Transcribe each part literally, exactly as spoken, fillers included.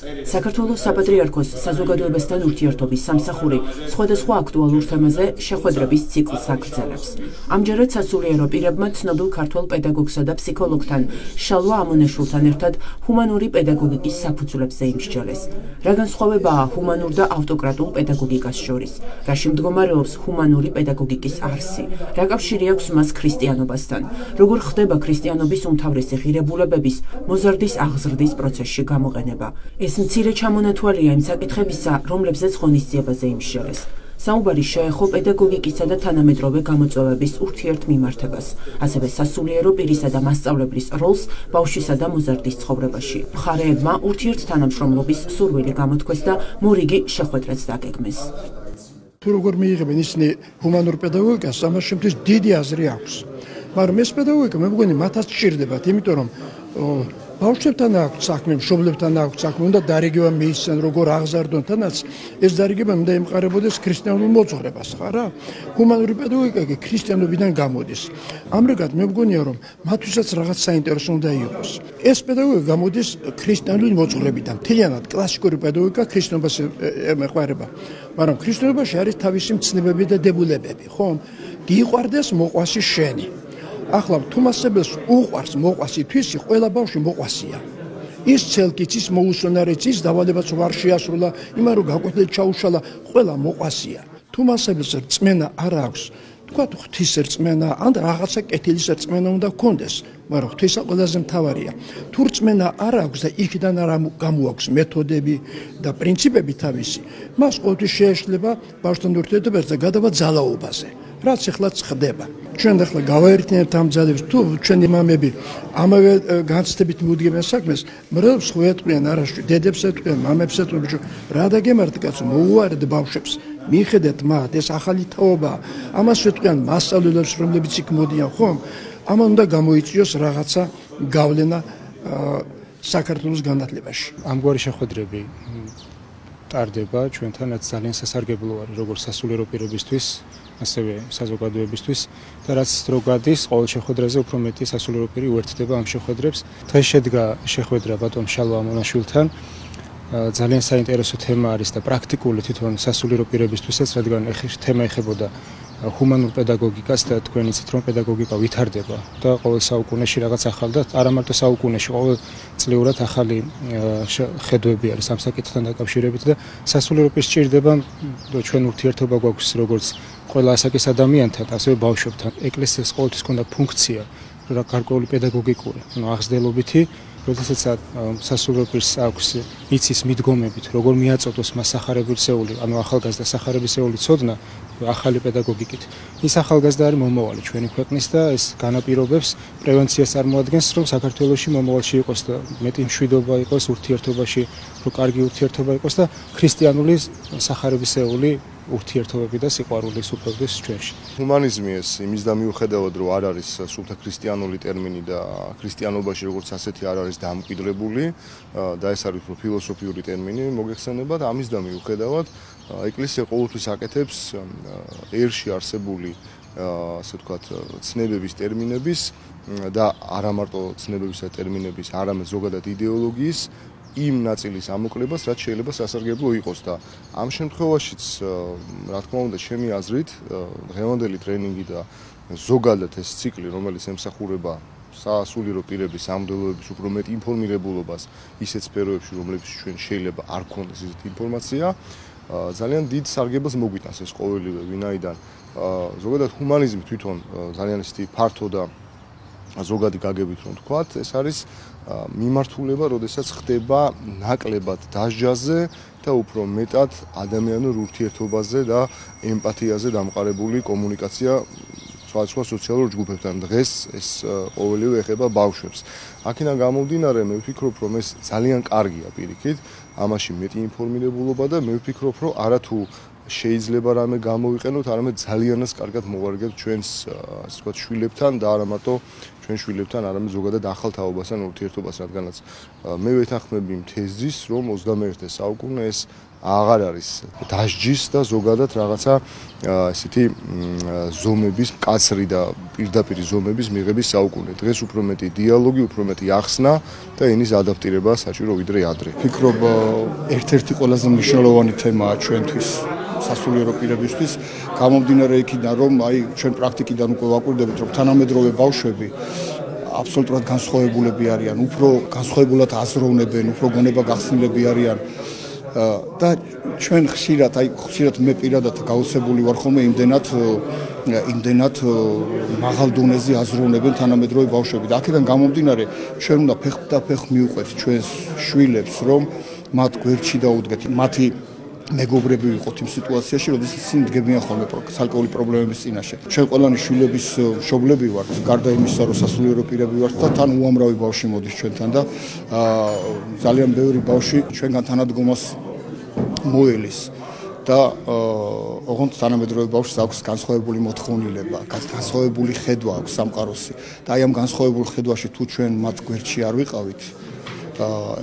საქართველოს საპატრიარქოს საზოგადოებასთან ურთიერთობის სამსახური სხვადასხვა აქტუალურ თემაზე შეხვედრების ციკლს აგრძელებს. ამჯერად სასულიერო პირებმა ცნობილ ქართველ პედაგოგსა და ფსიქოლოგთან შალვა ამონეშვილთან ერთად ჰუმანური პედაგოგიკის საფუძვლებზე იმსჯელეს. რა განსხვავებაა ჰუმანურ და ავტოკრატულ პედაგოგიკას შორის? რაში მდგომარეობს ჰუმანური პედაგოგიკის არსი? რა კავშირი აქვს მას ქრისტიანობასთან? როგორ ხდება ქრისტიანობის უმთავრესი ღირებულებების მოზარდის აღზრდის პროცესში გამოყენება? ეს მცირე ჩამონათვალია იმ საკითხებისა, რომლებზეც ღონისძიებაზე იმსჯელეს. საუბარი შეეხო პედაგოგიკისა და თანამედროვე გამოწვევების ურთიერთმიმართებას, ასევე სასულიერო პირისა და მასწავლებლის როლს ბავშვისა და მოზარდის ცხოვრებაში. მხარეებმა ურთიერთთანამშრომლობის სურვილი გამოთქვეს და მორიგი შეხვედრაც დაგეგმეს. თუ როგორ მიიღებენ ისინი ჰუმანურ პედაგოგიკას, ამას შემთხვევით დიდი აზრი აქვს. მაგრამ ეს პედაგოგიკა მე მგონი მათაც სჭირდებათ, იმიტომ რომ ბავშვებთან აქვს საქმე, მშობლებთან აქვს საქმე, უნდა დარიგება მიისცენ, როგორ აღზარდონ, თანაც ეს დარიგება უნდა ემყარებოდეს ქრისტიანულ მოძღვრებას, ხარა? ჰუმანური პედაგოგიკა კი ქრისტიანობიდან გამოდის. ამრიგად მე მგონია, რომ მათთვისაც რაღაც საინტერესო უნდა იყოს. ეს პედაგოგიკა გამოდის ქრისტიანული მოძღვრებიდან. მთლიანად კლასიკური პედაგოგიკა ქრისტიანობას ემყარება. მაგრამ ქრისტიანობაში არის თავისი მცნებები და დებულებები, ხო? გიყვარდეს მოყვასი შენი. ახლა თუმასებელს უყვარს მოყვასი თვისი, ყველა ბავშვი მოყვასია. ის ცელკიც, ის მოუსვენარიც, ის დავალებაც ვარ შეასრულა, იმან რომ გაკვეთილ ჩაუშალა, ყველა მოყვასია. თუმასებელს რწმენა არ აქვს. თქვა ღვთის რწმენა, ან რაღაცა კეთილის რწმენა უნდა გქონდეს, მაგრამ ღვთისა ყველაზე მთავარია. თუ რწმენა არ აქვს და იქიდან არ გამოაქვს მეთოდები და პრინციპები თავისი, მას ყოველთვის შეეშლება ბავშვთან ურთიერთობაზე და გადავა ძალაობაზე. რაც ეხლაც ხდება. ჩვენ ახლა გავაერთიანებთ ამ ძალებს, თუ ჩვენი მამები ამავე განცდებით მიუდგებენ საქმეს, მრევლს ხო ეტყვიან არაში, დედებს ეტყვიან, მამებს ეტყვიან, რა დაგემართ კაცო, მოუარეთ ბავშვებს, მიხედეთ მათ, ეს ახალი თაობაა. ამას ეტყვიან მასწავლებლებს, რომლებიც იქ მოდიან, ხომ? ამან უნდა გამოიწვიოს რაღაცა გავლენა საქართველოს განათლებაში. ამგვარი შეხვედრები ტარდება ჩვენთანაც ძალიან სასარგებლო არის როგორც სასულიერო პირებისთვის, ასევე საზოგადოებისთვის და რაც დრო გადის, ყოველ შეხვედრაზე უფრო მეტი სასულიერო პირი უერთდება ამ შეხვედრებს. დღეს შედგა შეხვედრა ბატონ შალვა ამონაშვილთან. ძალიან საინტერესო თემა არის და პრაქტიკული თვითონ სასულიერო პირებისთვისაც, რადგან თემა ეხებოდა ჰუმანურ პედაგოგიკას და თქვენ იცით რომ პედაგოგიკა ვითარდება და ყოველ საუკუნეში რაღაც ახალ და არა მარტო საუკუნეში, ყოველ წლიურად ახალი ხედვები არის ამ საკითხთან დაკავშირებით და სასულიერო პირს სჭირდება ჩვენ ურთიერთობა გვაქვს როგორც ყველა ასაკის ადამიანთან, ასევე ბავშვებთან. ეკლესიას ყოველთვის ჰქონდა ფუნქცია გარკვეული პედაგოგიკური, ანუ აღზრდელობითი, როდესაც სასულიერო პირს აქვს იცის მიდგომებით, როგორ მიაწოდოს მას სახარებისეული, ანუ ახალგაზრდა სახარებისეული ცოდნა ახალი პედაგოგიკით. ის ახალგაზრდა არის მომავალი ჩვენი ქვეყნის და ეს განაპირობებს პრევენციას წარმოადგენს, რომ საქართველოში მომავალში იყოს და მეტი მშვიდობა იყოს ურთიერთობაში, რომ კარგი ურთიერთობა იყოს და ქრისტიანული სახარებისეული ურთიერთობები და სიყვარული სუფევდეს ჩვენში. ჰუმანიზმი ეს იმის და მიუხედავად რომ არ არის სულთა ქრისტიანული ტერმინი და ქრისტიანობაში როგორც ასეთი არ არის დამკვიდრებული და ეს არის უფრო ფილოსოფიური ტერმინი მოგეხსენებათ, ამის და მიუხედავად ეკლესია ყოველთვის აკეთებს ერში არსებული ასე ვთქვათ ცნებების ტერმინების და არა მარტო ცნებების და ტერმინების, არამედ ზოგადად იდეოლოგიის იმ ნაწილის ამოკლებას, რაც შეიძლება სასარგებლო იყოს და ამ შემთხვევაშიც, რა თქმა უნდა, ჩემი აზრით, დღევანდელი ტრენინგი და ზოგადად ეს ციკლი, რომელიც ემსახურება სასულიერო პირების სამდელოების უფრო მეტ ინფორმირებულობას ისეთ სფეროებში, რომლებიც ჩვენ შეიძლება არ გქონდეს ისეთი ინფორმაცია, ძალიან დიდ სარგებელს მოგვიტანს ეს ყოველივე, ვინაიდან ზოგადად ჰუმანიზმი თვითონ ძალიან ისეთი ფართო და ზოგადი გაგებით რომ თქვათ, ეს არის მიმართულება, როდესაც ხდება ნაკლებად დასჯაზე და უფრო მეტად ადამიანურ ურთიერთობაზე და ემპათიაზე დამყარებული კომუნიკაცია სხვადასხვა სოციალურ ჯგუფებთან. დღეს ეს ყოველივე ეხება ბავშვებს. აქედან გამომდინარე, მე ვფიქრობ, რომ ეს ძალიან კარგია პირიქით, ამაში მეტი ინფორმირებულობა და მე ვფიქრობ, რომ არათუ შეიძლება რამე გამოვიყენოთ, არამედ ძალიანაც კარგად მოვარგებთ ჩვენს ასე ვთქვათ შვილებთან და არა მარტო ჩვენ შვილებთან, არამედ ზოგადად ახალ თაობასთან ურთიერთობას, რადგანაც მე ვეთანხმები იმ თეზის, რომ ოცდამეერთე საუკუნე ეს აღარ არის დასჯის და ზოგადად რაღაცა ესეთი ზომების მკაცრი და პირდაპირ ზომების მიღების საუკუნე. დღეს უფრო მეტი დიალოგი, უფრო მეტი ახსნა და ენის ადაპტირება საჭირო ვიდრე ადრე. ვფიქრობ, ერთ-ერთი ყველაზე მნიშვნელოვანი თემაა ჩვენთვის სასულიერო პირებისთვის, გამომდინარე იქიდან, რომ აი ჩვენ პრაქტიკიდან უკვე ვაკვირდებით, რომ თანამედროვე ბავშვები აბსოლუტურად განსხვავებულები არიან, უფრო განსხვავებულად აზროვნებენ, უფრო გონება გახსნილები არიან და ჩვენ ხშირად, აი ხშირად მე პირადად გაოცებული ვარ ხოლმე იმდენად იმდენად მაღალ დონეზე აზროვნებენ თანამედროვე ბავშვები და აქედან გამომდინარე ჩვენ უნდა ფეხდაფეხ მივყვეთ ჩვენს შვილებს, რომ მათ გვერდში დაუდგეთ, მათი მეგობრები ვიყოთ იმ სიტუაციაში, როდესაც ისინი დგებიან ხოლმე ცალკეული პრობლემების წინაშე. ჩვენ ყველანი შვილების მშობლები ვართ, გარდა იმისა, რომ სასულიერო პირები ვართ და თან უამრავი ბავშვი მოდის ჩვენთან და ძალიან ბევრი ბავშვი ჩვენგან თანადგომას მოელის და ოღონდ თანამედროვე ბავშვს აქვს განსხვავებული მოთხოვნილება, განსხვავებული ხედვა აქვს სამყაროსი და აი ამ განსხვავებულ ხედვაში თუ ჩვენ მათ გვერდში არ ვიყავით,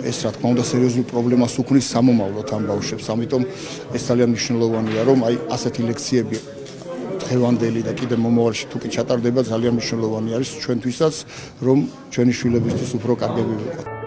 ეს რა თქმა უნდა სერიოზულ პრობლემას უქმნის სამომავლოდ ამ ბავშვებს. ამიტომ ეს ძალიან მნიშვნელოვანია, რომ აი ასეთი ლექციები დღევანდელი და კიდევ მომავალში თუ კი ჩატარდება, ძალიან მნიშვნელოვანი არის ჩვენთვისაც, რომ ჩვენი შვილებისთვის უფრო კარგები ვიყოთ.